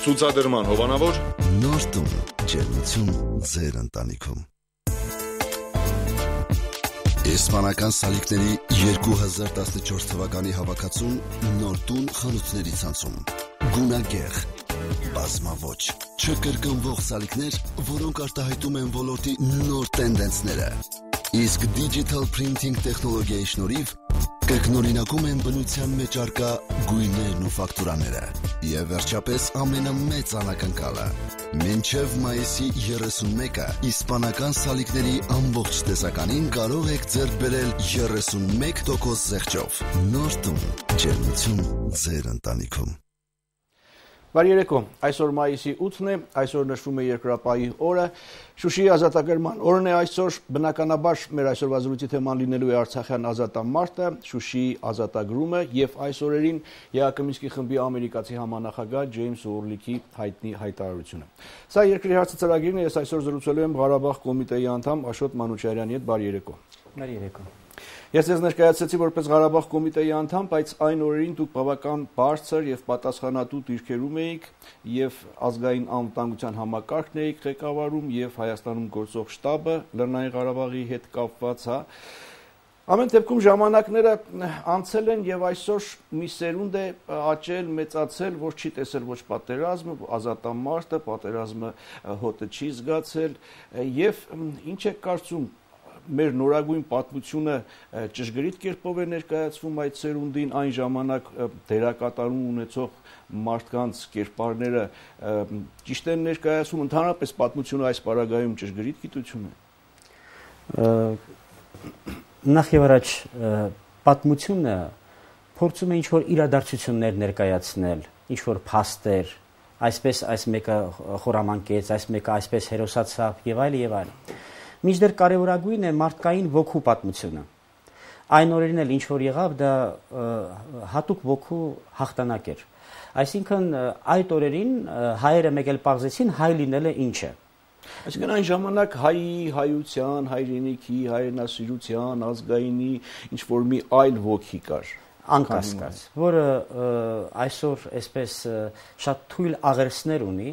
Ցուցադրման հովանավոր Նոր տուն, ջերմություն ձեր ընտանիքում։ Իսպանական սալիկների 2014 թվականի հավաքածուն նոր տուն խանութների ցանցում։ Գունագեղ, բազմաոճ, չկրկնվող սալիկներ, որոնք արտահայտում են ոլորտի նոր տենդենսները։ Իսկ digital printing տեխնոլոգիայի շնորհիվ կրկնօրինակում են բնության մեջ առկա գույներն ու ֆակտուրաները։ Եվ վերջապես ամենամեծ անակնկալը։ Մինչև մայիսի 31-ը իսպանական սալիկների ամբողջ տեսականին կարող եք ձեռք բերել 31% զեղչով։ Նոր տուն, ջերմություն ձեր ընտանիքում։ Բարի երեկո, այսօր մայիսի 8-ն է, այսօր նշվում է երկրապահի օրը, Շուշիի ազատագրման օրն է այսօր, բնականաբար մեր այսօրվա զրույցի թեման լինելու է Արցախյան ազատամարտը, Շուշիի ազատագրումը եւ այս օրերին ԵԱԿ խմբի ամերիկացի համանախագահ Ջեյմս Օրլիքի հայտնի հայտարարությունը։ Սա երկրի հարցը ծրագիրն է, ես այսօր զրուցելու եմ Ղարաբաղ կոմիտեի անդամ Աշոտ Մանուչարյանի հետ, բարի երեկո։ Բարի երեկո։ Ես ձեզ ներկայացրեցի որպես Ղարաբաղ կոմիտեի անդամ, բայց այն օրերին դուք բավական բարձր եւ պատասխանատու դիրքերում էիք եւ ազգային անվտանգության համակարգն էիք ղեկավարում եւ Հայաստանում գործող շտաբը Լեռնային Ղարաբաղի հետ կապված, հա։ Ամեն դեպքում ժամանակները անցել են եւ այսօր մի սերունդ է աճել, մեծացել, որ չի տեսել ոչ պատերազմը, ազատամարտը, պատերազմը հոտը չի զգացել եւ ինչ է կարծում մեր նորագույն պատմությունը ճշգրիտ կերպով է ներկայացվում այդ սերունդին, այն ժամանակ դերակատարում ունեցող մարդկանց կերպարները ճիշտ են ներկայացվում, ընդհանրապես պատմությունը այս պարագայում ճշգրիտ գիտություն է։ Նախ եւ առաջ պատմությունը փորձում է ինչ-որ իրադարձություններ ներկայացնել, ինչ-որ փաստեր, այսպես այս մեկը խորամանկեց, այս մեկը այսպես հերոսացավ եւ այլ եւ այլ։ Մինչդեռ կարևորագույն է մարդկային ոգու պատմությունը։ Այն օրերին էլ ինչ որ եղավ, դա հատուկ ոգու հաղթանակ էր։ Այսինքն այդ օրերին հայերը մեկ էլ պարզեցին հայ լինելը ինչ է։ Այսինքն այն ժամանակ հայի, հայության, հայրենիքի, հայրենասիրության, ազգայինի ինչ որ մի այլ ոգի կար։ Անկասկած, որը այսօր այսպես շատ թույլ աղերսներ ունի,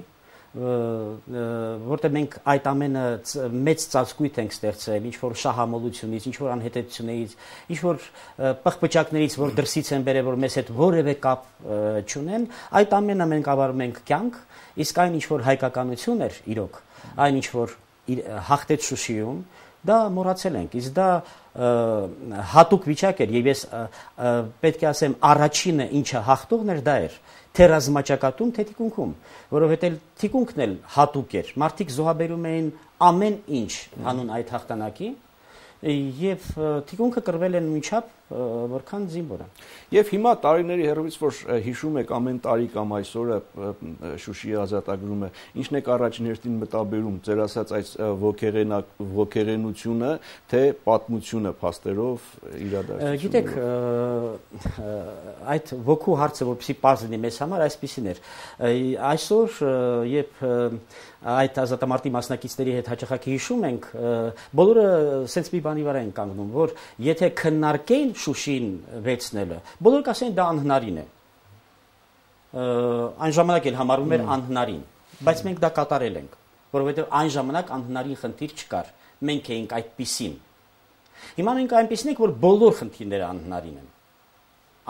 որտեղ մենք այդ ամենը մեծ ծածկույթ ենք ստեղծել, ինչ որ շահամոլությունից, ինչ որ անհետեցությունից, ինչ որ պղպճակներից, որ դրսից են բերել, որ մեզ հետ որևէ կապ չունեն, այդ ամենը մենք ավարում ենք կյանք, իսկ այն ինչ որ հայկականություն էր իրոք, այն ինչ որ հաղթեց Շուշիում, դա մոռացել ենք, իսկ դա հատուկ վիճակ էր, եւ ես պետք է ասեմ առաջինը ինչը հաղթողն էր դա էր, թե ռազմաճակատում, թե թիկունքում, որովհետեւ թիկունքն էլ հատուկ էր, մարդիկ զոհաբերում էին ամեն ինչ հանուն այդ հաղթանակի, եւ թիկունքը կրվել են նույնչափ որքան զինվորը։ Եվ հիմա տարիների հեռվից որ հիշում եք ամեն տարի կամ այսօրը Շուշիի ազատագրումը, ինչն է առաջին հերթին մտաբերում, ձեր ասած այս ոգեղենությունը, թե պատմությունը փաստերով իրադարձությունը։ Գիտեք, այդ ոգու հարցը որպեսզի պարզ լինի մեզ համար, այսպեսին էր։ Այսօր երբ այդ ազատամարտի մասնակիցների հետ հաճախակի հիշում ենք, բոլորը սենց մի բանի վրա են կանգնում, որ եթե քննարկեին Շուշին վերցնելը, բոլորը կասեն դա անհնարին է։ Այն ժամանակ էլ համարվում էր անհնարին, բայց մենք դա կատարել ենք, որովհետև այն ժամանակ անհնարին խնդիր չկար, մենք էինք այդպիսին։ Հիմա մենք այնպիսին ենք, որ բոլոր խնդիրները անհնարին են։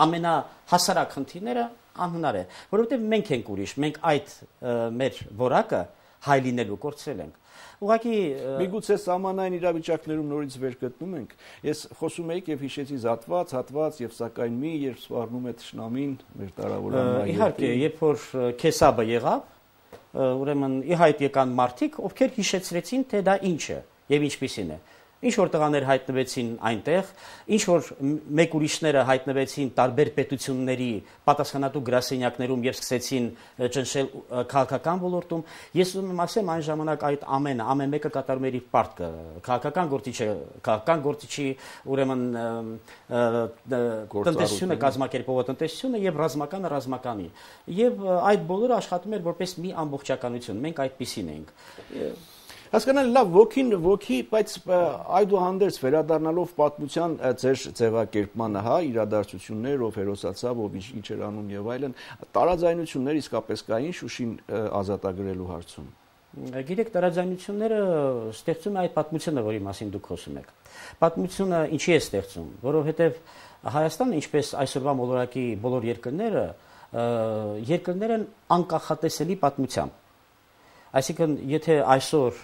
Ամենահասարակ խնդիրները անհնար է, որովհետև մենք ենք ուրիշ, մենք այդ մեր որակը հայ լինելու կորցրել ենք։ Ուղղակի միգուցե սահմանային իրավիճակներում նորից վեր գտնում ենք։ Ես խոսում եի եւ հիշեցի հատված եւ սակայն մի երբ սպառնում է թշնամին մեր տարավորանային։ Իհարկե, երբ որ քեսաբը եղավ, ուրեմն ի հայտ եկան մարդիկ, ովքեր հիշեցրեցին, թե դա ինչ է եւ ինչպիսին է։ Ինչ որ տղաներ հայտնվեցին այնտեղ, ինչ որ մեկ ուրիշները հայտնվեցին տարբեր պետությունների պատասխանատու գրասենյակներում եւ սկսեցին ճնշել քաղաքական ոլորտում։ Ես ուզում եմ ասեմ, այն ժամանակ այդ ամեն մեկը կատարում էր իր պարտքը։ Քաղաքական գործիչի, ուրեմն տնտեսությունը կազմակերպողը տնտեսությունը եւ ռազմականը ռազմականի։ Եվ այդ բոլորը աշխատում էր որպես մի ամբողջականություն։ Մենք այդպիսին էինք։ Հասկանալի, լավ, ոգի, բայց այդուհանդերձ վերադառնալով պատմության ձեր ձևակերպմանը, հա, իրադարձություններ, ով հերոսացավ, ով ինչ էր անում եւ այլն, տարաձայնություններ իսկապես կային Շուշին ազատագրելու հարցում։ Գիտեք, տարաձայնությունները ստեղծում է այդ պատմությունը, որի մասին դուք խոսում եք։ Պատմությունը ինչի է ստեղծում, որովհետև Հայաստանը, ինչպես այսօրվա մոլորակի բոլոր երկրներ են անկախատեսելի պատմությամբ։ Այսինքն, եթե այսօր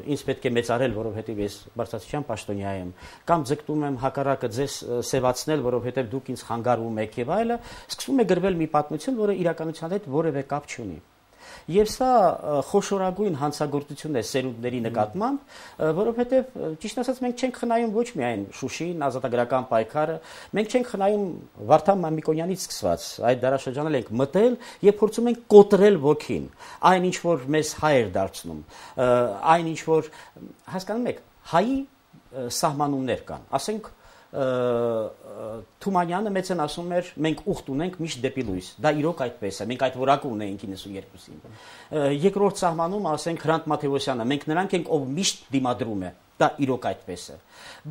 ինձ պետք է մեծարել, որովհետև ես բարձրացիության պաշտոնյա եմ, կամ ձգտում եմ հակառակը ձեզ սևացնել, որովհետև դուք ինձ խանգարում եք եւ այլը, սկսում է գրվել մի պատմություն, որը իրականության հետ որևէ կապ չունի։ Եվ սա խոշորագույն հանցագործություն է սերունդների նկատմամբ, որովհետև ճիշտ ասած մենք չենք խնայում ոչ միայն Շուշին, ազատագրական պայքարը, մենք չենք խնայում Վարդան Մամիկոնյանից սկսված, այդ դարաշրջանել ենք մտել եւ փորձում ենք կոտրել ոգին, այն ինչ որ մեզ հայ էր դարձնում, այն ինչ որ հասկանում եք, հայի սահմանումներ կան, ասենք Թումանյանը մեծն ասում էր մենք ուխտ ունենք միշտ դեպի լույս, դա իրոք այդպես է, մենք այդ որակը ունեինք 92-ին։ Երկրորդ սահմանում ասենք Հրանտ Մաթեոսյանը, մենք նրանք ենք ով միշտ դիմադրում է, դա իրոք այդպես է։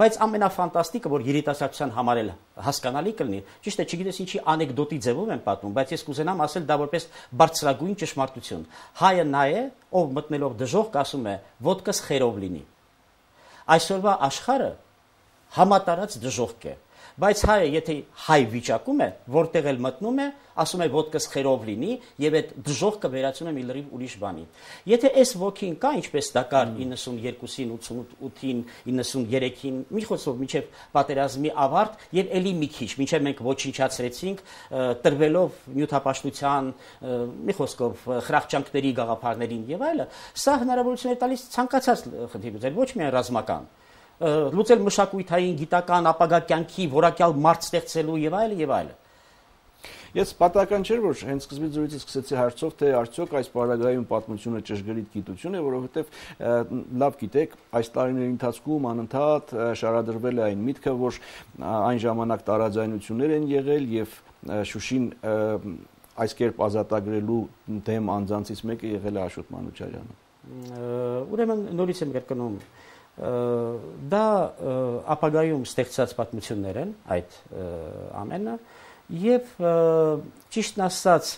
Բայց ամենաֆանտաստիկը, որ երիտասարդության համար էլ հասկանալի կլինի, ճիշտ է, չգիտես ինչի անեկդոտի ձևով եմ պատմում, բայց ես կուզենամ ասել դա որպես բարձրագույն ճշմարտություն։ Հայը նա է, ով մտնելով դժոխք ասում է ոտքս խերով լինի։ Այսօրվա աշխարհը համատարած դժոխք է, բայց հայը եթե հայ վիճակում է, որտեղ էլ մտնում է, ասում է ոտքս խերով լինի եւ այդ դժոխքը վերածում է մի լրիվ ուրիշ բանի։ Եթե այս ոգին կա, ինչպես դա կար 92-ին, 88-ին, 93-ին, մի խոսքով մինչև պատերազմի ավարտ եւ ելի մի քիչ, մինչև մենք ոչնչացրեցինք, տրվելով նյութապաշտության, մի խոսքով խրախճանքների գաղափարներին եւ այլը, սա հնարավորություն է տալիս ցանկացած խնդիր, ոչ միայն ռազմական լուծել մշակույթային, գիտական, ապագա կյանքի որակյալ մարդ ստեղծելու եւ այլը եւ այլը։ Ես պատահական չէր, որ հենց սկզբից զրույցը սկսեցի հարցով, թե արդյոք այս պարագայում պատմությունը ճշգրիտ գիտություն է, որովհետեւ լավ գիտեք, այս տարիների ընթացքում անընդհատ շարադրվել է այն միտքը, որ այն ժամանակ տարաձայնություններ են եղել եւ Շուշին այս կերպ ազատագրելու դեմ անձանցից մեկը եղել է Աշոտ Մանուչարյանը։ Ուրեմն նորից եմ կրկնում դա ապագայում ստեղծած պատմություններ են այդ ամենը եւ ճիշտն ասած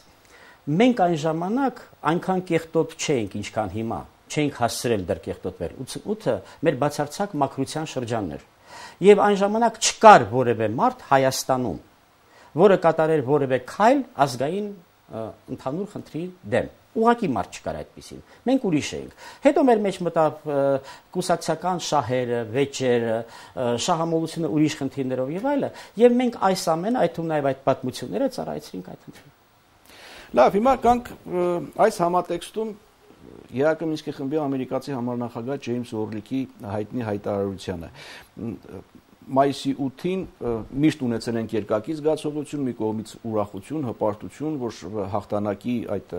մենք այն ժամանակ այնքան կեղտոտ չէինք ինչքան հիմա չենք հասցրել դեռ կեղտոտվել 88-ը մեր բացարձակ մաքրության շրջանն էր եւ այն ժամանակ չկար որևէ մարդ Հայաստանում որը կատարեր որևէ քայլ ազգային ընդհանուր խնդրի դեմ ուղղակի մարդ չկար այդպեսին։ Մենք ուրիշ էինք։ Հետո մեր մեջ մտավ կուսակցական շահերը, վեճերը, շահամոլությունը ուրիշ խնդիրներով եւ այլը, եւ մենք այս ամենը, այդ թվում նաեւ այդ պատմությունները ծառայեցինք այդ խնդրին։ Լավ, հիմա կանք այս համատեքստում ԵԱԿ Մինսկի խմբի ամերիկացի համանախագահ Ջեյմս Օրլիքի հայտնի հայտարարությանը Մայիսի 8-ին միշտ ունեցել ենք երկակի զգացողություն, մի կողմից ուրախություն, հպարտություն, որ հաղթանակի այդ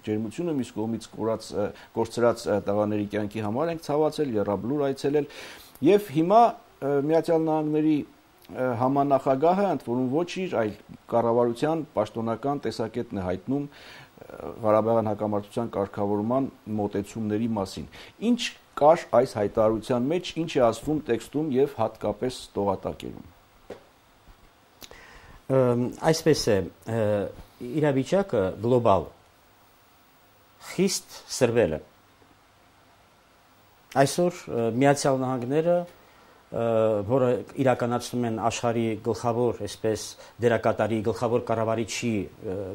ջերմությունը մյուս կողմից կորցրած տղաների կյանքի համար ենք ցավացել, եռաբլուր այցելել եւ հիմա Միացյալ Նահանգների համանախագահը ընդ որում ոչ իր, այլ կառավարության պաշտոնական տեսակետն է հայտնում Ղարաբաղյան հակամարտության կարգավորման մոտեցումների մասին։ Ինչ կար այս հայտարարության մեջ, ինչ է ասվում տեքստում եւ հատկապես տողատակերում։ Այսպես է, իրավիճակը գլոբալ խիստ սրվել է։ Այսօր Միացյալ Նահանգները, որը իրականացնում են աշխարհի գլխավոր, այսպես դերակատարի, գլխավոր կառավարիչի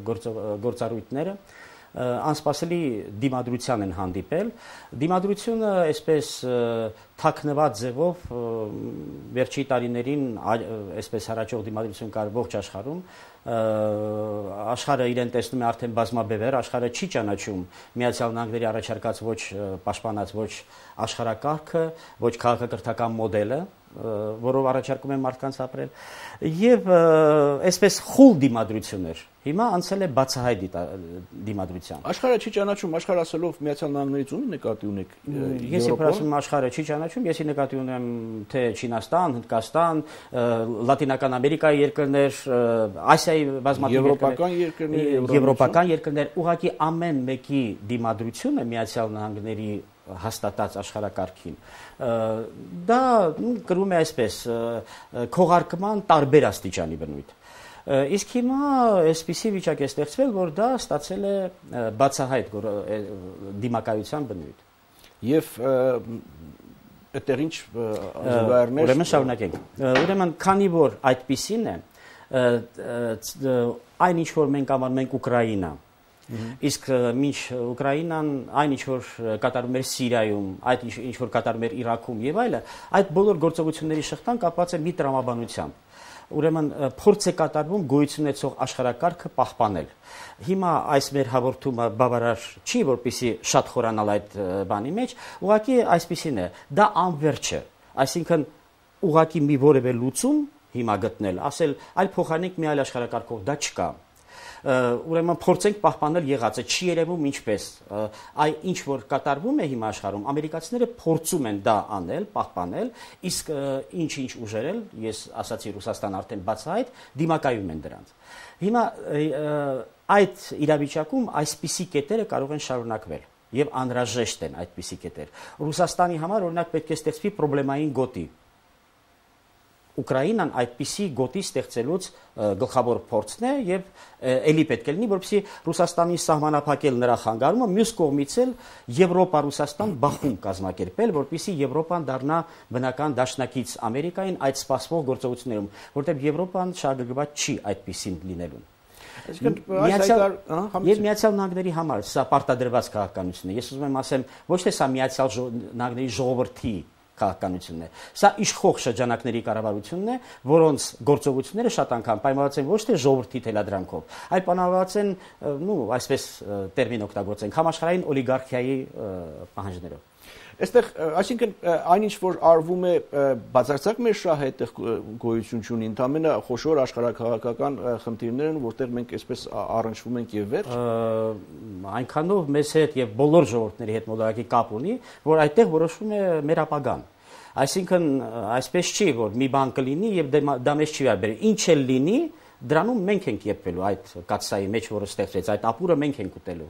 գործառույթները, անսպասելի դիմադրության են հանդիպել։ Դիմադրությունը այսպես թաքնված ձևով վերջի տարիներին այսպես հառաջող դիմադրություն կար ողջ աշխարհում աշխարհը իրեն տեսնում է արդեն բազմաբևեր, աշխարհը չի ճանաչում Միացյալ Նահանգների առաջարկած ոչ պաշտպանած ոչ աշխարհակարգը, ոչ քաղաքակրթական մոդելը, որով առաջարկում են մարդկանց ապրել եւ այսպես խուլ դիմադրություններ հիմա անցել է բացահայտ դիմադրության։ Աշխարհը չի ճանաչում, աշխարհ ասելով Միացյալ Նահանգներից ում նկատի ունեք։ Ես երբ ասում եմ աշխարհը չի ճանաչում, ես նկատի ունեմ թե Չինաստան, Հնդկաստան, Լատինական Ամերիկայի երկրներ, Ասիայի բազմաթիվ երկրներ, եվրոպական երկրներ, ուղղակի ամեն մեկի դիմադրությունը Միացյալ Նահանգների հաստատած աշխարհակարգին։ Դա կրում է այսպես քողարկման տարբեր աստիճանի բնույթ։ Իսկ հիմա այսպիսի վիճակ է ստեղծվել, որ դա ստացել է բացահայտ դիմակայության բնույթ։ Եվ այդտեղ ինչ զուգահեռներ։ Ուրեմն շարունակենք։ Ուրեմն քանի որ այդպիսին է, այն ինչ որ մենք անվանում ենք Ուկրաինա, իսկ մինչ Ուկրաինան այն ինչ որ կատարում էր Սիրիայում, այդ ինչ որ կատարում էր Իրաքում եւ այլը, այդ բոլոր գործողությունների շղթան կապված է մի տրամաբանությամբ։ Ուրեմն փորձ է կատարվում գոյություն ունեցող աշխարհակարգը պահպանել։ Հիմա այս մեր հաղորդումը բավարար չի, որպեսզի շատ խորանալ այդ բանի մեջ, ուղղակի այսպիսին է, դա անվերջ է, այսինքն ուղղակի մի որևէ լուծում հիմա գտնել, ասել այլ փոխանակ մի այլ աշխարհակարգով դա չկա։ Ուրեմն փորձենք պահպանել եղածը, չի երևում ինչպես, այ ինչ որ կատարվում է հիմա աշխարհում, ամերիկացիները փորձում են դա անել, պահպանել, իսկ ինչ ուժերել, ես ասացի Ռուսաստան արդեն բացահայտ, դիմակայում են դրանց։ Հիմա այդ իրավիճակում այսպիսի կետերը կարող են շարունակվել եւ անհրաժեշտ են այդպիսի կետեր։ Ռուսաստանի համար օրինակ պետք է ստեղծվի պրոբլեմային գոտի։ Ուկրաինան այդպիսի գոտի ստեղծելուց գլխավոր փորձն է եւ ելի պետք է լինի, որպեսզի Ռուսաստանի սահմանափակել նրա խանգարումը, մյուս կողմից էլ Եվրոպա-Ռուսաստան բախում կազմակերպել, որպեսզի Եվրոպան դառնա բնական դաշնակից Ամերիկային այդ սպասվող գործողություններում, որտեղ Եվրոպան շահագրգռված չի այդպիսին լինելուն։ Եվ Միացյալ Նահանգների համար սա պարտադրված քաղաքականություն է։ Ես ուզում եմ ասեմ, ոչ թե սա Միացյալ Նահանգների ժողովրդի քաղաքականությունն է։ Սա իշխող շրջանակների կառավարությունն է, որոնց գործողությունները շատ անգամ պայմանավորված են ոչ թե ժողովրդի թելադրանքով, այլ պայմանավորված են, այսպես տերմին օգտագործենք, համաշխարհային օլիգարխիայի պահանջներով։ Այստեղ, այսինքն այն ինչ որ արվում է բացարձակ մեր շահը այդտեղ գոյություն չունի, ընդամենը խոշոր աշխարհակաղակական խնդիրներ են, որտեղ մենք այսպես առնչվում ենք եւ վերջ։ Այնքանով մեզ հետ եւ բոլոր ժողովուրդների հետ մոլորակի կապ ունի, որ այդտեղ որոշվում է մեր ապագան։ Այսինքն այսպես չի, որ մի բան կլինի եւ դա մեզ չի վերաբերի։ Ինչ էլ լինի, դրանում մենք ենք եփվելու այդ կաթսայի մեջ, որը ստեղծվեց, այդ ապուրը մենք ենք ուտելու։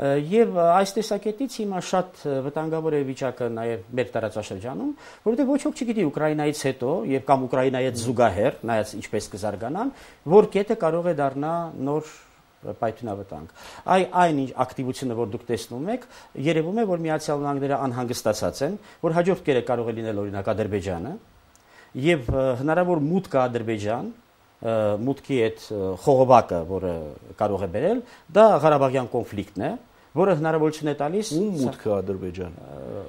Եվ այս տեսակետից հիմա շատ վտանգավոր է վիճակը նաև մեր տարածաշրջանում, որովհետև ոչ ոք չգիտի Ուկրաինայից հետո եւ կամ Ուկրաինայի հետ զուգահեռ, նայած ինչպես կզարգանան, որ կետը կարող է դառնա նոր պայթյունավտանգ։ Այն ակտիվությունը, որ դուք տեսնում եք, երևում է, որ Միացյալ Նահանգները անհանգստացած են, որ հաջորդ կետը կարող է լինել օրինակ Ադրբեջանը, եւ հնարավոր մուտքը Ադրբեջան մուտքի այդ խողովակը, որը կարող է բերել, դա Ղարաբաղյան կոնֆլիկտն է, որը հնարավորություն է տալիս մուտքը Ադրբեջան։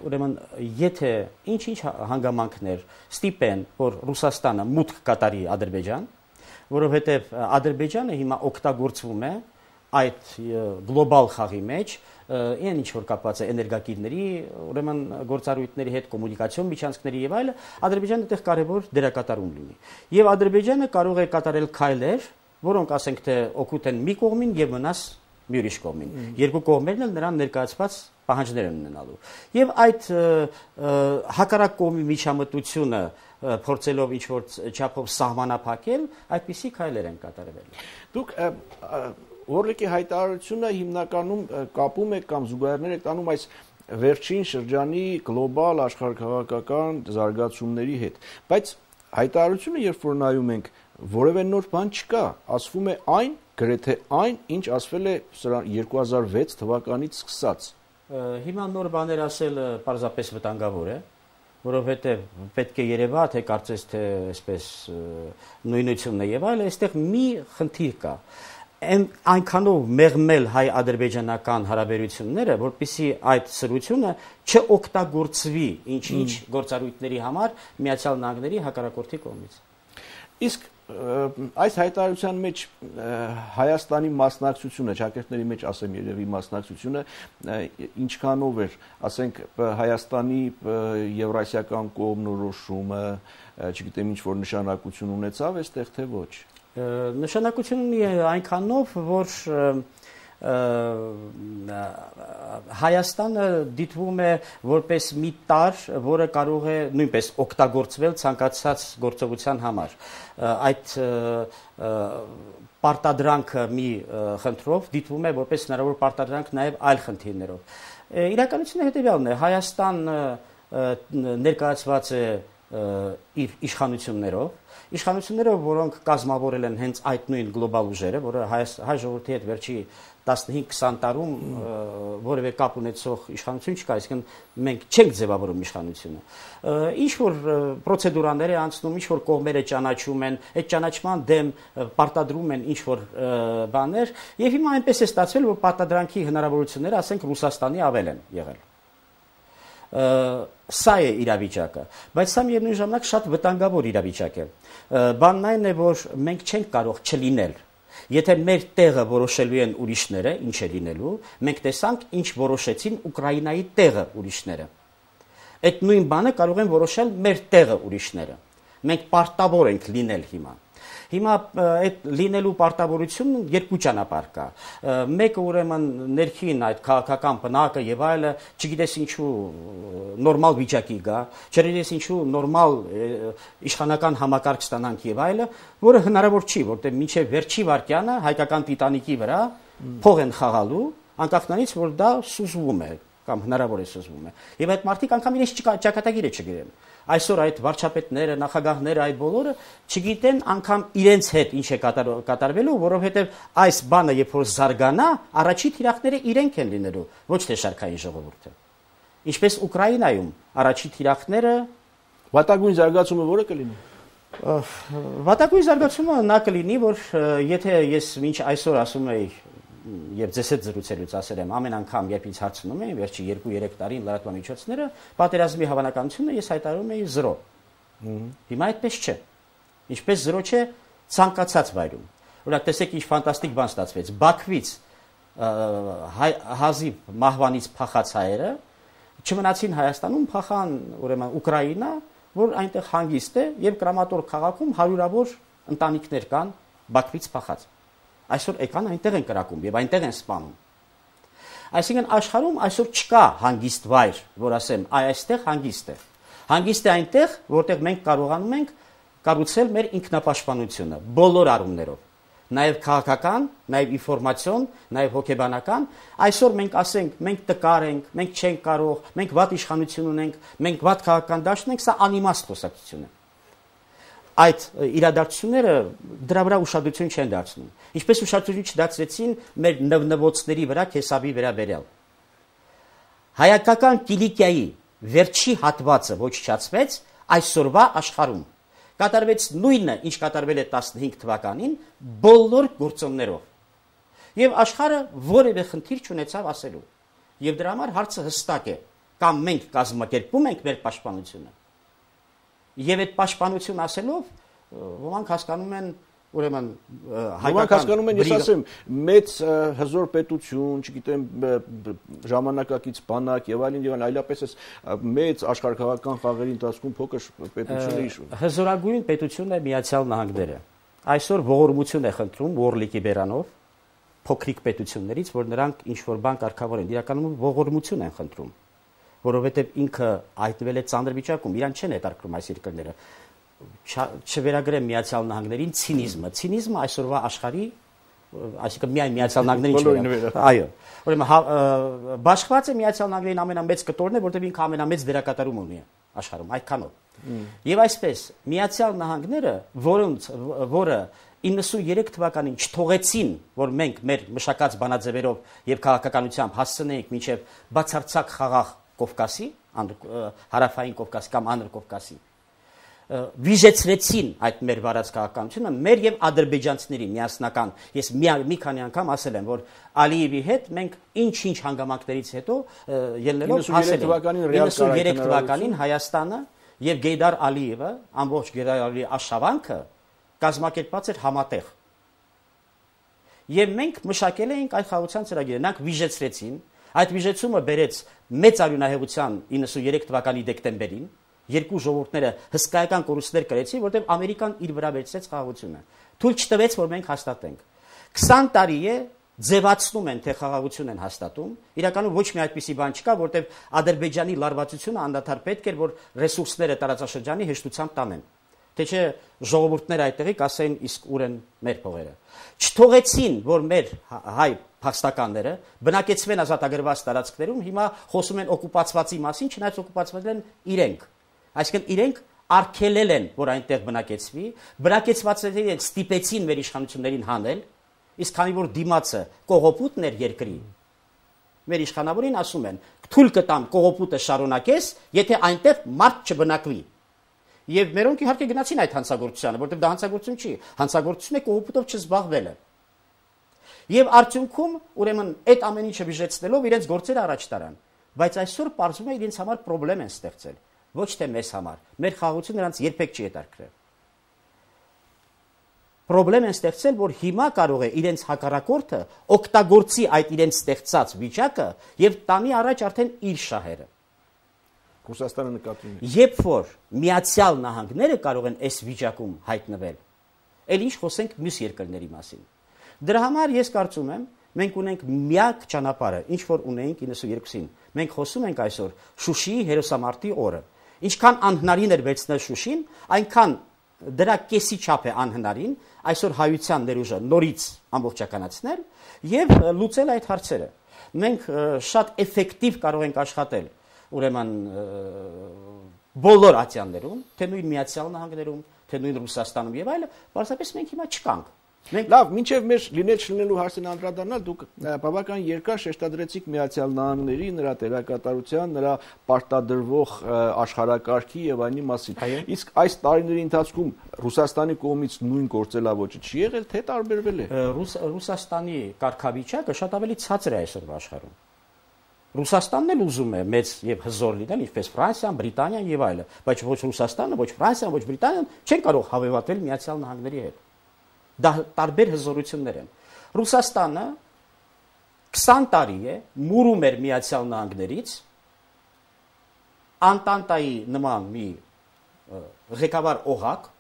Ուրեմն, եթե ինչ-ինչ հանգամանքներ ստիպեն, որ Ռուսաստանը մուտք կատարի Ադրբեջան, որովհետև Ադրբեջանը հիմա օգտագործվում է այդ գլոբալ խաղի մեջ, այն ինչ որ կապված է էներգակիրների, ուրեմն գործառույթների հետ, կոմունիկացիոն միջանցքների եւ այլը, Ադրբեջանը այդտեղ կարևոր դերակատարում լինի։ Եվ Ադրբեջանը կարող է կատարել քայլեր, որոնք ասենք թե օգուտ են մի կողմին եւ վնաս մի ուրիշ կողմին։ Երկու կողմերն էլ նրան ներկայացված պահանջներ են ունենալու։ Եվ այդ հակառակ կողմի միջամտությունը փորձելով ինչ որ չափով սահմանափակել, այդպիսի քայլեր են կատարվել։ Դուք Օրլիկի հայտարարությունը հիմնականում կապում եք կամ զուգահեռներ եք տանում այս վերջին շրջանի գլոբալ աշխարհակաղակական զարգացումների հետ, բայց հայտարարությունը երբ որ նայում ենք, որևէ նոր բան չկա, ասվում է այն, գրեթե այն, ինչ ասվել է 2006 թվականից սկսած։ Հիմա նոր բաներ ասելը պարզապես վտանգավոր է, որովհետև պետք է երևա, թե կարծես թե այսպես նույնությունն է եւ այլը, այստեղ մի խնդիր կա։ Այնքանով մեղմել հայ-ադրբեջանական հարաբերությունները, որպեսզի այդ սրությունը չօգտագործվի ինչ-ինչ գործառույթների համար Միացյալ Նահանգների հակառակորդի կողմից։ Իսկ այս հայտարարության մեջ Հայաստանի մասնակցությունը, ճակերտների մեջ ասեմ երևի մասնակցությունը ինչքանով էր, ասենք Հայաստանի եվրասիական կողմնորոշումը, չգիտեմ ինչ որ նշանակություն ունեցավ այստեղ թե ոչ։ Նշանակություն ունի այնքանով, որ Հայաստանը դիտվում է որպես մի տարր, որը կարող է նույնպես օգտագործվել ցանկացած գործողության համար։ Այդ պարտադրանքը մի խնդրով դիտվում է որպես հնարավոր պարտադրանք նաև այլ խնդիրներով։ Իրականությունը հետևյալն է, Հայաստան ներկայացված է իր իշխանություններով, որոնք կազմավորել են հենց այդ նույն գլոբալ ուժերը, որը հայ ժողովրդի հետ վերջի 15-20 տարում որևէ կապ ունեցող իշխանություն չկա, այսինքն մենք չենք ձևավորում իշխանությունը։ Ինչ որ պրոցեդուրաներ է անցնում, ինչ որ կողմերը ճանաչում են, այդ ճանաչման դեմ պարտադրում են ինչ որ բաներ, եւ հիմա այնպես է ստացվել, որ պարտադրանքի հնարավորությունները, ասենք, Ռուսաստանի ավել են եղել։ Սա է իրավիճակը, բայց սա միևնույն ժամանակ շատ վտանգավոր իրավիճակ է։ Բանն այն է, որ մենք չենք կարող չլինել։ Եթե մեր տեղը որոշելու են ուրիշները, ինչ է լինելու, մենք տեսանք, ինչ որոշեցին Ուկրաինայի տեղը ուրիշները։ Այդ նույն բանը կարող են որոշել մեր տեղը ուրիշները։ Մենք պարտավոր ենք լինել հիմա։ Հիմա այդ լինելու պարտավորությունը երկու ճանապարհ կա։ Մեկը ուրեմն ներքին այդ քաղաքական բնակը եւ այլը, չգիտես ինչու նորմալ վիճակի գա, չգիտես ինչու նորմալ իշխանական համակարգ ստանանք եւ այլը, որը հնարավոր չի, որտեղ մինչեւ վերջի վարկյանը հայկական տիտանիկի վրա փող են խաղալու, անկախ նրանից, որ դա սուզվում է կամ հնարավոր է սուզվում է։ Եվ այդ մարդիկ անգամ իրենց ճակատագիրը չգիտեն։ Այսօր այդ վարչապետները, նախագահները, այդ բոլորը չգիտեն անգամ իրենց հետ ինչ է կատարվելու, որովհետև այս բանը երբ որ զարգանա, առաջի թիրախները իրենք են լինելու, ոչ թե շարքային ժողովուրդը։ Ինչպես Ուկրաինայում առաջի թիրախները վատագույն զարգացումը որը կլինի։ Վատագույն զարգացումը նա կլինի, որ եթե ես մինչ այսօր ասում եի եւ ձեզ հետ զրուցելուց ասել եմ ամեն անգամ երբ ինձ հարցնում էին վերջի 2-3 տարին լրատվական միջոցները պատերազմի հավանականությունը ես հայտարարում էի 0 հիմա այդպես չէ ինչպես 0 չէ ցանկացած վայրում օրինակ տեսեք ինչ ֆանտաստիկ բան ստացվեց Բաքվից հազիվ մահվանից փախած հայերը չմնացին Հայաստանում փախան ուրեմն Ուկրաինա որ այնտեղ հանգիստ է եւ Կրամատոր քաղաքում հարյուրավոր ընտանիքներ կան Բաքվից փախած այսօր եկան այնտեղ են կրակում եւ այնտեղ են սպանում։ Այսինքն աշխարհում այսօր չկա հանգիստ վայր, որ ասեմ, այստեղ հանգիստ է։ Հանգիստ է այնտեղ, որտեղ մենք կարողանում ենք կառուցել մեր ինքնապաշտպանությունը բոլոր առումներով։ Նաեւ քաղաքական, նաեւ ինֆորմացիոն, նաեւ հոգեբանական, այսօր մենք ասենք, մենք տկար ենք, մենք չենք կարող, մենք վատ իշխանություն ունենք, մենք վատ քաղաքական դաշտ ունենք, սա անիմաստ խոսակցություն է։ Այդ իրադարձությունները դրա վրա ուշադրություն չեն դարձնում։ Ինչպես ուշադրություն չդարձրեցին մեր նվնվոցների վրա Քեսավի վերաբերյալ։ Հայկական Կիլիկիայի վերջի հատվածը ոչնչացվեց այսօրվա աշխարհում։ Կատարվեց նույնը, ինչ կատարվել է 15 թվականին, բոլոր գործոններով։ Եվ աշխարհը որևէ խնդիր չունեցավ ասելու։ Եվ դրա համար հարցը հստակ է, կամ մենք կազմակերպում ենք մեր պաշտպանությունը։ Եվ այդ պաշտպանություն ասելով ոմանք հասկանում են ուրեմն հայկական հասկանում են ես ասեմ մեծ հզոր պետություն, չգիտեմ ժամանակակից բանակ եւ այլն այլապես էս մեծ աշխարհակաղակական խաղերի ընթացքում փոքր պետությունների հզորագույն պետությունն է Միացյալ Նահանգները։ Այսօր ողորմություն է խնդրում Օրլիկի բերանով փոքրիկ պետություններից, որ նրանք ինչ որ բան կարգավորեն, իրականում ողորմություն են խնդրում, որովհետեւ ինքը այդվել է ծանր վիճակում, իրան չեն հետարկում այս երկրները։ Չվերագրեմ Միացյալ Նահանգներին ցինիզմը այսօրվա աշխարհի, այսինքն միայն Միացյալ Նահանգներին չէ։ Այո։ Ուրեմն բաշխված է Միացյալ Նահանգներին ամենամեծ կտորն է, որտեղ ինքը ամենամեծ դերակատարում ունի աշխարհում, այդքանով։ Եվ այսպես Միացյալ Նահանգները, որը 93 թվականին չթողեցին, որ մենք մեր մշակած բանաձևերով եւ քաղաքականությամբ հասցնեինք մինչեւ բացարձակ խաղաղ Կովկասի, հարավային Կովկասի կամ Անդր Կովկասի, վիժեցրեցին այդ մեր վարած քաղաքականությունը, մեր եւ ադրբեջանցիների միասնական, ես մի քանի անգամ ասել եմ, որ Ալիևի հետ մենք ինչ-ինչ հանգամանքներից հետո ելնելով հասել ենք 93 թվականին Հայաստանը եւ Գեյդար Ալիևը, ամբողջ Գեյդար Ալիևի աշխատանքը կազմակերպված էր համատեղ։ Եվ մենք մշակել էինք այդ խաղաղության ծրագիրը, նրանք վիժեցրեցին, այդ վիժեցումը բերեց մեծ արյունահեղության 93 թվականի դեկտեմբերին, երկու ժողովուրդները հսկայական կորուստներ կրեցին, որտեղ Ամերիկան իր վրա վերցրեց խաղաղությունը։ Թույլ չտվեց, որ մենք հաստատենք։ 20 տարի է ձևացնում են, թե խաղաղություն են հաստատում։ Իրականում ոչ մի այդպիսի բան չկա, որտեղ Ադրբեջանի լարվածությունը անդադար պետք էր, որ ռեսուրսները տարածաշրջանի հեշտությամբ տանեն։ Թե չէ ժողովուրդները այդտեղի կասեին իսկ ուր են մեր փողերը։ Չթողեցին, որ մեր հայ փախստականները բնակեցվեն ազատագրված տարածքներում, հիմա խոսում են օկուպացվածի մասին, չնայած օկուպացված են իրենք։ Այսինքն իրենք արգելել են, որ այնտեղ բնակեցվի, բնակեցվածները ստիպեցին մեր իշխանություններին հանել, իսկ քանի որ դիմացը կողոպուտն էր երկրի, մեր իշխանավորին ասում են, թույլ կտամ կողոպուտը շարունակես, եթե այնտեղ մարդ չբնակվի։ Եվ մերոնք իհարկե գնացին այդ հանցագործությանը, որտեղ դա հանցագործություն չի, հանցագործություն է կողոպուտով չզբաղվելը։ Եվ արդյունքում, ուրեմն, այդ ամեն ինչը բիժեցնելով իրենց գործերը առաջ տարան, բայց այսօր պարզվում է իրենց համար խնդրեմ են ստեղծել, ոչ թե մեզ համար։ Մեր խաղաղությունը նրանց երբեք չի հետաքրքրել։ Խնդրեմ են ստեղծել, որ հիմա կարող է իրենց հակառակորդը օգտագործի այդ իրենց ստեղծած վիճակը եւ տանի առաջ արդեն իր շահերը։ Ռուսաստանը նկատի ունի։ Երբ որ Միացյալ Նահանգները կարող են այս վիճակում հայտնվել, ել ինչ խոսենք մյուս երկրների մասին։ Դրա համար ես կարծում եմ, մենք ունենք միակ ճանապարհը, ինչ որ ունեինք 92-ին։ Մենք խոսում ենք այսօր Շուշիի հերոսամարտի օրը։ Ինչքան անհնարին էր վերցնել Շուշին, այնքան դրա կեսի չափ է անհնարին այսօր հայության ներուժը նորից ամբողջականացնել եւ լուծել այդ հարցերը։ Մենք շատ էֆեկտիվ կարող ենք աշխատել, ուրեմն բոլոր ատյաններում, թե նույն Միացյալ Նահանգներում, թե նույն Ռուսաստանում եւ այլը, պարզապես մենք հիմա չկանք։ Լավ, մինչև մեր լինել չլինելու հարցին անդրադառնալ, դուք բավական երկար շեշտադրեցիք Միացյալ Նահանգների, նրա դերակատարության, նրա պարտադրվող աշխարհակարգի եւ այլնի մասին։ Իսկ այս տարիների ընթացքում Ռուսաստանի կողմից նույն գործելավոճը չի եղել, թե տարբերվել է։ Ռուսաստանի կարգավիճակը շատ ավելի ցածր է այսօր աշխարհում։ Ռուսաստանն էլ ուզում է մեծ եւ հզոր լինել, ինչպես Ֆրանսիան, Բրիտանիան եւ այլը, բայց ոչ Ռուսաստանը, ոչ Ֆրանսիան, ոչ Բրիտանիան չեն կարող հավելվել Միացյալ Նահանգների հետ։ Դա տարբեր հզորություններ են։ Ռուսաստանը 20 տարի է մուրում էր Միացյալ Նահանգներից, Անտանտայի նման մի ղեկավար օղակ,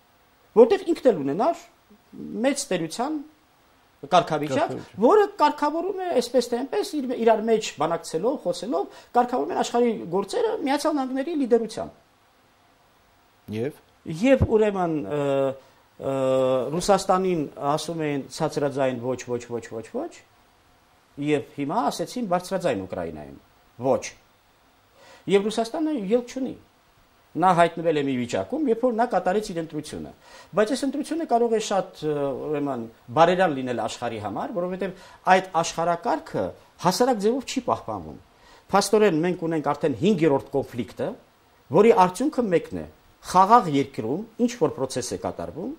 որտեղ ինքն էլ ունենար մեծ տերության կարգավիճակ, որը կարգավորում է այսպես թե այնպես իրար մեջ բանակցելով, խոսելով, կարգավորում են աշխարհի գործերը Միացյալ Նահանգների լիդերությամբ։ Եվ ուրեմն Ռուսաստանին ասում են ցածրաձայն ոչ, եւ հիմա ասեցին բարձրաձայն Ուկրաինայում ոչ։ Եվ Ռուսաստանը ելք չունի։ Նա հայտնվել է մի վիճակում, երբ որ նա կատարեց իր ընտրությունը։ Բայց այս ընտրությունը կարող է շատ ուրեմն բարերար լինել աշխարհի համար, որովհետեւ այդ աշխարհակարգը հասարակ ձևով չի պահպանվում։ Փաստորեն մենք ունենք արդեն 5-րդ կոնֆլիկտը, որի արդյունքը մեկն է. խաղաղ երկրում ինչ որ process է կատարվում,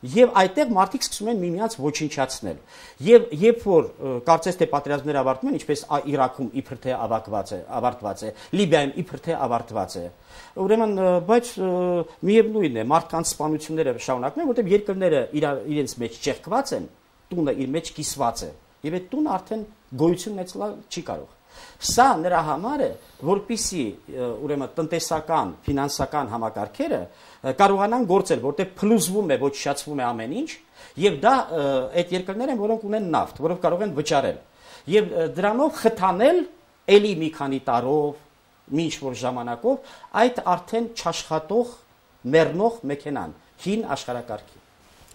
եւ այդտեղ մարդիկ սկսում են միմյանց ոչնչացնել։ Եվ երբ որ կարծես թե պատերազմները ավարտվում են, ինչպես Իրաքում իբր թե ավարտված է, Լիբիայում իբր թե ավարտված է։ Ուրեմն, բայց միևնույն է, մարդկանց սպանությունները շարունակվում են, որտեղ երկրները իրենց մեջ ճեղքված են, տունը իր մեջ կիսված է, եւ այդ տունը արդեն գոյություն ունեցնել չի կարող։ Սա նրա համար է, որպիսի ուրեմն տնտեսական, ֆինանսական համակարգերը կարողանան գործել, որտեղ փլուզվում է, ոչնչացվում է ամեն ինչ, եւ դա այդ երկրներ են, որոնք ունեն նավթ, որոնք կարող են վճարել։ Եվ դրանով խթանել էլի մի քանի տարով, մի ինչ-որ ժամանակով այդ արդեն չաշխատող, մեռնող մեքենան, հին աշխարհակարգի։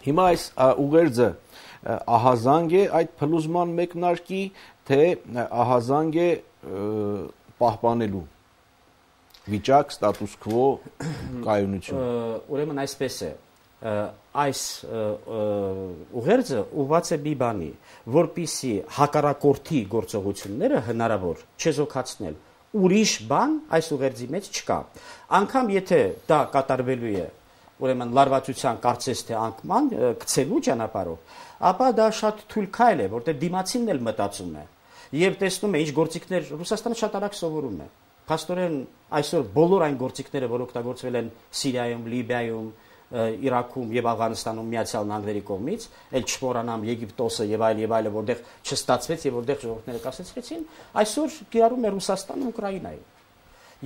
Հիմա այս ուղերձը ահազանգ է այդ փլուզման մեկնարկի, թե ահազանգ է պահպանելու վիճակ, ստատուս քվո, կայունություն։ Ուրեմն այսպես է, այս ուղերձը ուղղված է մի բանի, որպիսի հակառակորդի գործողությունները հնարավոր չեզոքացնել, ուրիշ բան այս ուղերձի մեջ չկա։ Անկամ եթե դա կատարվելու է ուրեմն լարվածության կարծես թե անկման գցելու ճանապարհով, ապա դա շատ թույլ քայլ է, որտեղ դիմացինն էլ մտածում է եւ տեսնում է ինչ գործիքներ Ռուսաստանը շատ արագ սովորում է։ Փաստորեն այսօր բոլոր այն գործիքները, որ օգտագործվել են Սիրիայում, Լիբիայում, Իրաքում եւ Աֆղանստանում Միացյալ Նահանգների կողմից, ել չմոռանամ Եգիպտոսը եւ այլը, որտեղ չստացվեց եւ որտեղ ժողովուրդները կասեցրեցին, այսօր կիրառում է Ռուսաստանը Ուկրաինայում։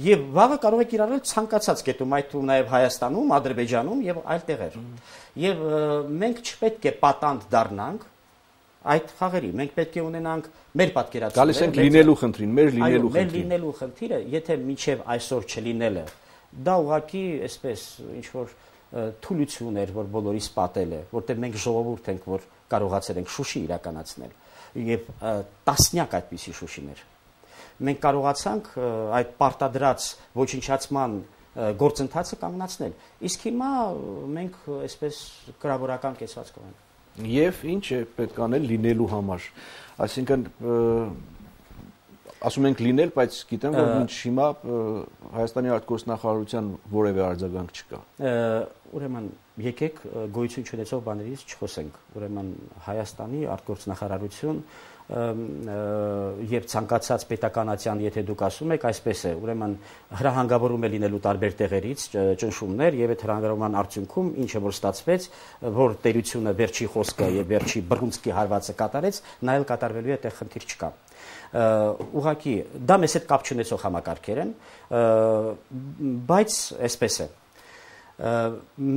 Եվ վաղը կարող է կիրառել ցանկացած կետում, այդ ու նաև Հայաստանում, Ադրբեջանում եւ այլ տեղեր։ Եվ մենք չպետք է պատանդ դառնանք այդ խաղերի։ Մենք պետք է ունենանք մեր պատկերացումը։ Գալիս ենք լինելու խնդրին, մեր լինելու խնդրին։ Մեր լինելու խնդիրը, եթե մինչև այսօր չլինելը, դա ուղղակի այսպես ինչ որ թուլություն էր, որ բոլորիս պատել է, որտեղ մենք ժողովուրդ ենք, որ կարողացել ենք Շուշի իրականացնել։ եւ տասնյակ այդպիսի Շուշիներ։ Մենք կարողացանք այդ պարտադրած ոչնչացման գործընթացը կանգնացնել։ Իսկ հիմա մենք այսպես կրավորական կեցված կողենք։ Եվ ինչ է պետք անել լինելու համար։ Այսինքն ասում ենք լինել, բայց գիտեմ, որ մինչ հիմա Հայաստանի արտգործնախարարության որևէ արձագանք չկա։ Ուրեմն եկեք գոյություն չունեցող բաներից չխոսենք։ Ուրեմն Հայաստանի արտգործնախարարություն եւ ցանկացած պետականացիան, եթե դուք ասում եք, այսպես է, ուրեմն հրահանգավորում է լինելու տարբեր տեղերից ճնշումներ եւ այդ հրահանգավորման արդյունքում ինչը որ ստացվեց, որ տերությունը վերջի խոսքը եւ վերջի բռունցքի հարվածը կատարեց, նա էլ կատարվելու է, այդտեղ խնդիր չկա։ Ուղղակի դա մեզ հետ կապ չունեցող համակարգեր են, բայց այսպես է։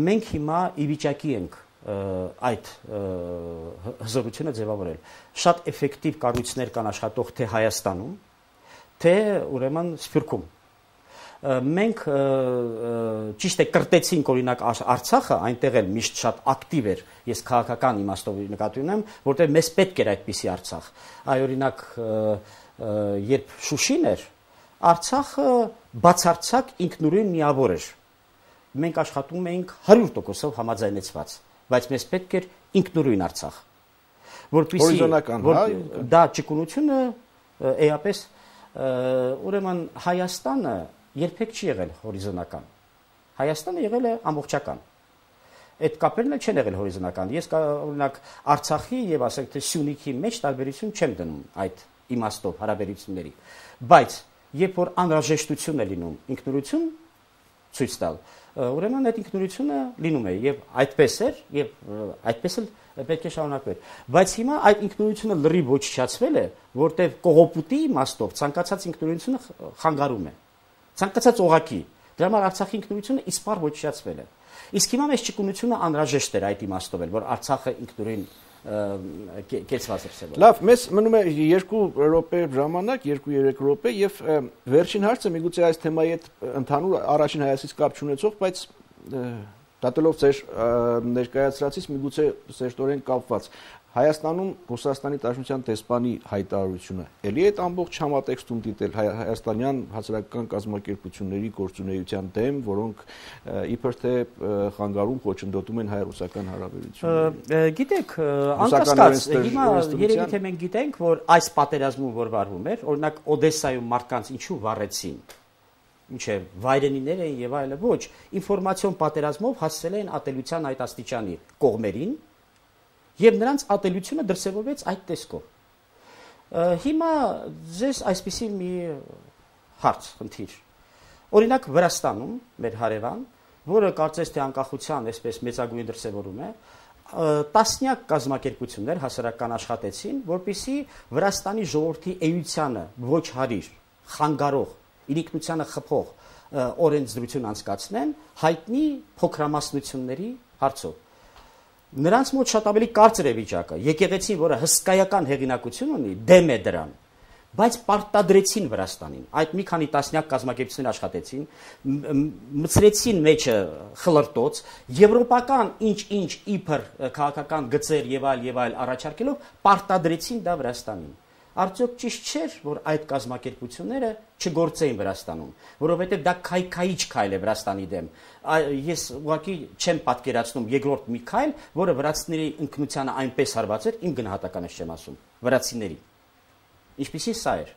Մենք հիմա ի վիճակի ենք այդ հզորությունը ձևավորել։ Շատ էֆեկտիվ կառույցներ կան աշխատող թե Հայաստանում, թե ուրեմն Սփյուռքում։ Մենք ճիշտ է կրտեցինք օրինակ Արցախը, այնտեղ էլ միշտ շատ ակտիվ էր, ես քաղաքական իմաստով նկատի ունեմ, որտեղ մեզ պետք էր այդպիսի Արցախ։ Այ օրինակ երբ Շուշին էր, Արցախը բացարձակ ինքնուրույն միավոր էր։ Մենք աշխատում էինք 100%-ով համաձայնեցված, բայց մեզ պետք էր ինքնուրույն Արցախ, որպեսզի դա ճկունությունը էապես ուրեմն Հայաստանը երբեք չի եղել հորիզոնական։ Հայաստանը եղել է ամբողջական։ Այդ կապերն էլ չեն եղել հորիզոնական։ Ես օրինակ Արցախի եւ ասենք թե Սյունիքի մեջ տարբերություն չեմ դնում այդ իմաստով հարաբերությունների, բայց երբ որ անհրաժեշտություն է լինում ինքնուրույն ցույց տալ, ուրեմն այդ ինքնուրույնությունը լինում է եւ այդպես էր եւ այդպես էլ պետք է շարունակվեր։ Բայց հիմա այդ ինքնուրույնությունը լրիվ ոչնչացվել է, որտեղ կողոպուտի իմաստով ցանկացած ինքնուրույնությունը խանգարում է։ Ցանկացած օղակի։ Դրա համար Արցախի ինքնուրույնությունը իսպառ ոչնչացվել է։ Իսկ հիմա մեզ ճկունությունը անհրաժեշտ էր այդ իմաստով էլ, որ Արցախը ինքնուրույն կեցված է։ Լավ, մեզ մնում է 2 րոպե ժամանակ, 2-3 րոպե եւ վերջին հարցը միգուցե այս թեմայի հետ ընդհանուր առաջին հայացքից կապ չունեցող, բայց դատելով ձեր ներկայացրածից միգուցե սերտորեն կապված։ Հայաստանում Ռուսաստանի Դաշնության դեսպանի հայտարարությունը էլի այդ ամբողջ համատեքստում դիտել հայաստանյան հասարակական կազմակերպությունների գործունեության դեմ, որոնք իբր թե խանգարում խոչընդոտում են հայ-ռուսական հարաբերությունները։ Գիտեք, անկասկած, հիմա երևի թե մենք գիտենք, որ այս պատերազմում որ վարվում էր, օրինակ Օդեսայում մարդկանց ինչու վառեցին, ինչ է վայրենիներ էին եւ այլը, ոչ, ինֆորմացիոն պատերազմով հասցել են ատելության այդ աստիճանի կողմերին եւ նրանց ատելությունը դրսևորվեց այդ տեսքով։ Հիմա ձեզ այսպիսի մի հարց խնդիր։ Օրինակ Վրաստանում մեր հարևան, որը կարծես թե անկախության այսպես մեծագույն դրսևորում է, տասնյակ կազմակերպություններ հասարակական աշխատեցին, որպեսզի Վրաստանի ժողովրդի էությանը ոչ հարիր, խանգարող, իրիկնությանը խփող օրենսդրություն անցկացնեն հայտնի փոքրամասնությունների հարցով։ Նրանց մոտ շատ ավելի կարծր է վիճակը։ Եկեղեցին, որը հսկայական հեղինակություն ունի, դեմ է դրան, բայց պարտադրեցին Վրաստանին։ Այդ մի քանի տասնյակ կազմակերպություններ աշխատեցին, մցրեցին մեջը խլրտոց, եվրոպական ինչ-ինչ իբր քաղաքական գծեր եւ այլ առաջարկելով պարտադրեցին դա Վրաստանին։ Արդյոք ճիշտ չէր, որ այդ կազմակերպությունները չգործեին Վրաստանում, որովհետև դա քայքայիչ քայլ է Վրաստանի դեմ։ Ես ուղղակի չեմ պատկերացնում երկրորդ մի քայլ, որը վրացիների ինքնությանը այնպես հարվածեր, իմ գնահատականը չեմ ասում, վրացիների։ Ինչպիսի սա էր։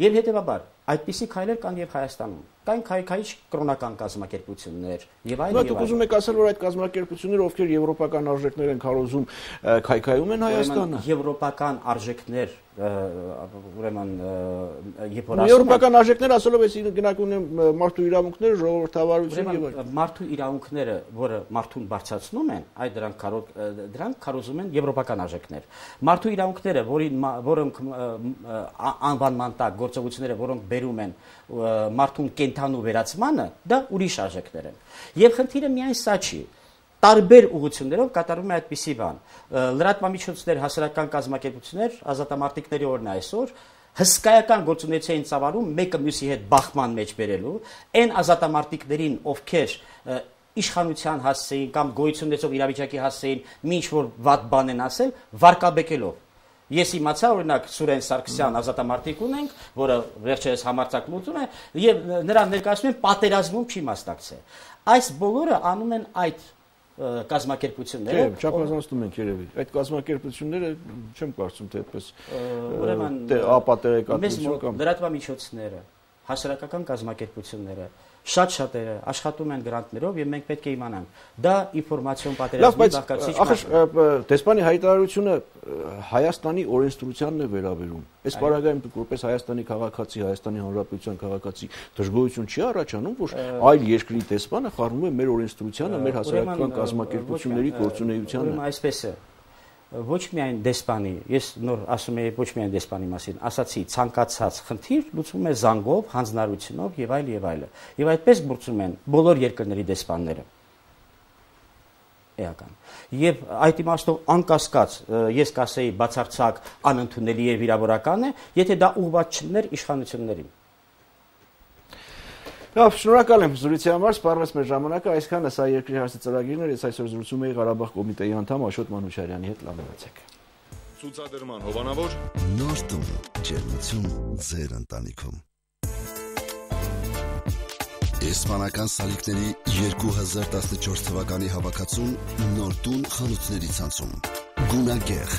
Եվ հետևաբար այդպիսի քայլեր կան եւ Հայաստանում։ Կան քայքայիչ կրոնական կազմակերպություններ եւ այլ եւ այլ։ Դուք ուզում եք ասել, որ այդ կազմակերպությունները, ովքեր եվրոպական արժեքներ են քարոզում, քայքայում են Հայաստանը։ Եվրոպական արժեքներ, ուրեմն երբ որ ասում եվրոպական արժեքներ ասելով ես գնահատում եմ մարդու իրավունքները, ժողովրդավարություն եւ այլ։ Մարդու իրավունքները, որը մարդուն բարձրացնում են, այդ դրանք քարոզում են եվրոպական արժեքներ։ Մարդու իրավունքները, որոնք անվանման տակ գործողությունները, որոնք բերում են մարդուն կենթանու վերացմանը, դա ուրիշ արժեքներ են։ Եվ խնդիրը միայն սա չի։ Տարբեր ուղղություններով կատարվում է այդպիսի բան։ Լրատվամիջոցներ, հասարակական կազմակերպություններ, ազատամարտիկների օրն է այսօր, հսկայական գործունեություն են ծավալում մեկը մյուսի հետ բախման մեջ բերելու, այն ազատամարտիկներին, ովքեր իշխանության հասցեին կամ գոյություն ունեցող իրավիճակի հասցեին, ինչ որ վատ բան են ասել, վարկաբեկելով։ Ես իմացա, օրինակ Սուրեն Սարգսյան ազատամարտիկ ունենք, որը վերջերս համարձակ լուծում է, եւ նրան ներկայացնում են պատերազմում չի մասնակցել։ Այս բոլորը անում են այդ կազմակերպությունները։ Չէ, չափազանցնում ենք երևի։ Այդ կազմակերպությունները չեմ կարծում թե այդպես ուրեմն ապատերեկատվություն կամ լրատվամիջոցները, հասարակական կազմակերպությունները շատ-շատերը աշխատում են գրանտներով եւ մենք պետք է իմանանք դա ինֆորմացիոն պատերազմի բաղկացիչ ախր դեսպանի հայտարարությունը Հայաստանի օրենսդրությանն է վերաբերում։ Այս պարագայում դուք որպես Հայաստանի քաղաքացի, Հայաստանի Հանրապետության քաղաքացի դժգոհություն չի առաջանում, որ այլ երկրի դեսպանը խառնում է մեր օրենսդրությանը, մեր հասարակական կազմակերպությունների գործունեությանը։ Այսպես է ոչ միայն դեսպանի, ես նոր ասում եի ոչ միայն դեսպանի մասին, ասացի ցանկացած խնդիր լուծվում է զանգով, հանձնարարությունով եւ այլ եւ այլը։ Եվ այդպես գործում են բոլոր երկրների դեսպանները։ Էական։ Եվ այդ իմաստով անկասկած ես կասեի բացարձակ անընդունելի եւ վիրավորական է, եթե դա ուղղված չլիներ իշխանություններին։ Լավ, շնորհակալ եմ զրույցի համար, սպառվեց մեր ժամանակը, այսքանը սա երկրի հարցի ծրագիրն էր, ես այսօր զրուցում էի Ղարաբաղ կոմիտեի անդամ Աշոտ Մանուչարյանի հետ, լավ մնացեք։ Ցուցադրման հովանավոր նոր տուն, ջերմություն ձեր ընտանիքում։ Իսպանական սալիկների 2014 թվականի հավաքածուն նոր տուն խանութների ցանցում։ Գունագեղ,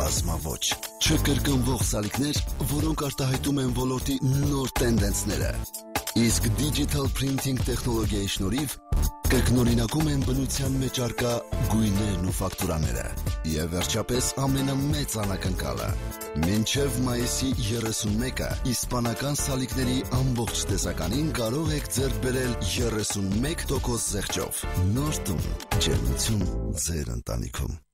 բազմաոճ, չկրկնվող սալիկներ, որոնք արտահայտում են ոլորտի նոր տենդենսները։ Իսկ digital printing տեխնոլոգիայի շնորհիվ կրկնօրինակում են բնության մեջ առկա գույներն ու ֆակտուրաները։ Եվ վերջապես ամենամեծ անակնկալը։ Մինչև մայիսի 31-ը իսպանական սալիկների ամբողջ տեսականին կարող եք ձեռք բերել 31% զեղչով։ Նոր տուն, ջերմություն ձեր ընտանիքում։